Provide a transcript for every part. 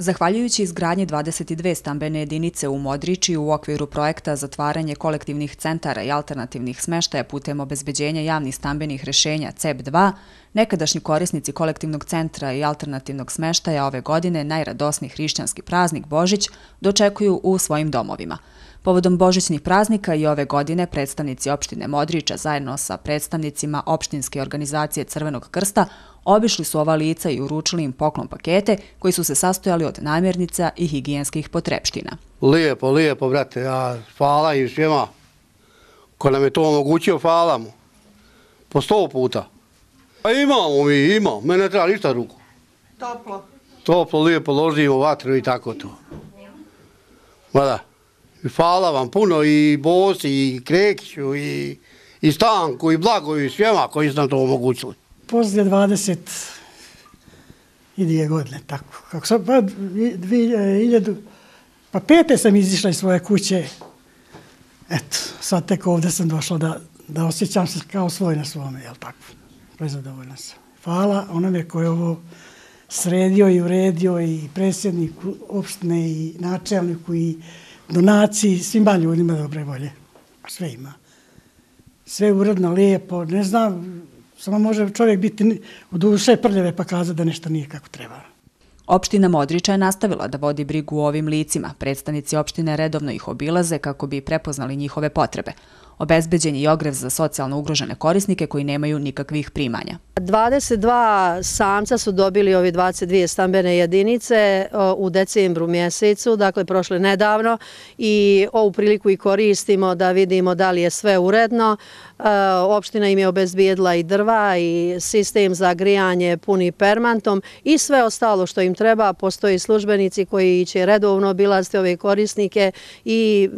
Zahvaljujući izgradnji 22 stambene jedinice u Modriči u okviru projekta Zatvaranje kolektivnih centara i alternativnih smeštaja putem obezbeđenja javnih stambenih rešenja CEP2, nekadašnji korisnici kolektivnog centra i alternativnog smeštaja ove godine najradosniji hrišćanski praznik Božić dočekuju u svojim domovima. Povodom božićnih praznika i ove godine predstavnici opštine Modriča zajedno sa predstavnicima opštinske organizacije Crvenog krsta obišli su ova lica i uručili im poklon pakete koji su se sastojali od namirnica i higijenskih potrepština. Lijepo, lijepo, brate. Hvala im svima. Ko nam je to omogućio, hvala mu. Po 100 puta. Pa imamo. Mene ne treba ništa ruku. Toplo. Toplo, lijepo, ložimo vatru i tako to. Mada. Hvala vam puno i Bosi, i Krekiću, i Stanku, i Blago, i svima koji su nam to omogućili. Poslije 22 godine, tako. Kako sam, pa 2005. sam izišla iz svoje kuće. Eto, sad tek ovdje sam došla da osjećam se kao svoj na svome, jel tako? Prezadovoljna sam. Hvala onome koji je ovo sredio i uredio i predsjedniku opštine i načelniku i donaciji, svima ljudima dobre volje. Sve ima. Sve uredno, lijepo, ne znam, samo može čovjek biti u duše prljave pa kazati da nešto nije kako treba. Opština Modriča je nastavila da vodi brigu o ovim licima. Predstavnici opštine redovno ih obilaze kako bi prepoznali njihove potrebe. Obezbeđen je i ogrev za socijalno ugrožene korisnike koji nemaju nikakvih primanja. 22 samca su dobili ovi 22 stambene jedinice u decembru mjesecu, dakle prošle nedavno, i ovu priliku i koristimo da vidimo da li je sve uredno. Opština im je obezbijedila i drva i sistem za grijanje puni permantom i sve ostalo što im treba. Postoji službenici koji će redovno obilaziti ove korisnike i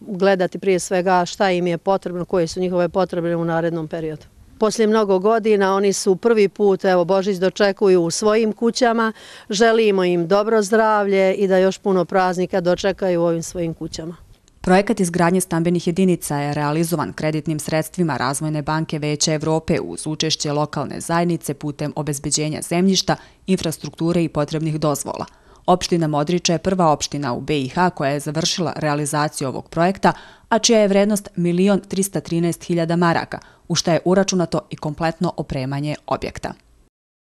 gledati prije svega šta im je potrebno, koje su njihove potrebe u narednom periodu. Poslije mnogo godina oni su prvi put, Božić dočekuju u svojim kućama. Želimo im dobro zdravlje i da još puno praznika dočekaju u ovim svojim kućama. Projekat izgradnje stambenih jedinica je realizovan kreditnim sredstvima Razvojne banke Veća Evrope uz učešće lokalne zajednice putem obezbeđenja zemljišta, infrastrukture i potrebnih dozvola. Opština Modriča je prva opština u BiH koja je završila realizaciju ovog projekta, a čija je vrednost 1.313.000 maraka, u šta je uračunato i kompletno opremanje objekta.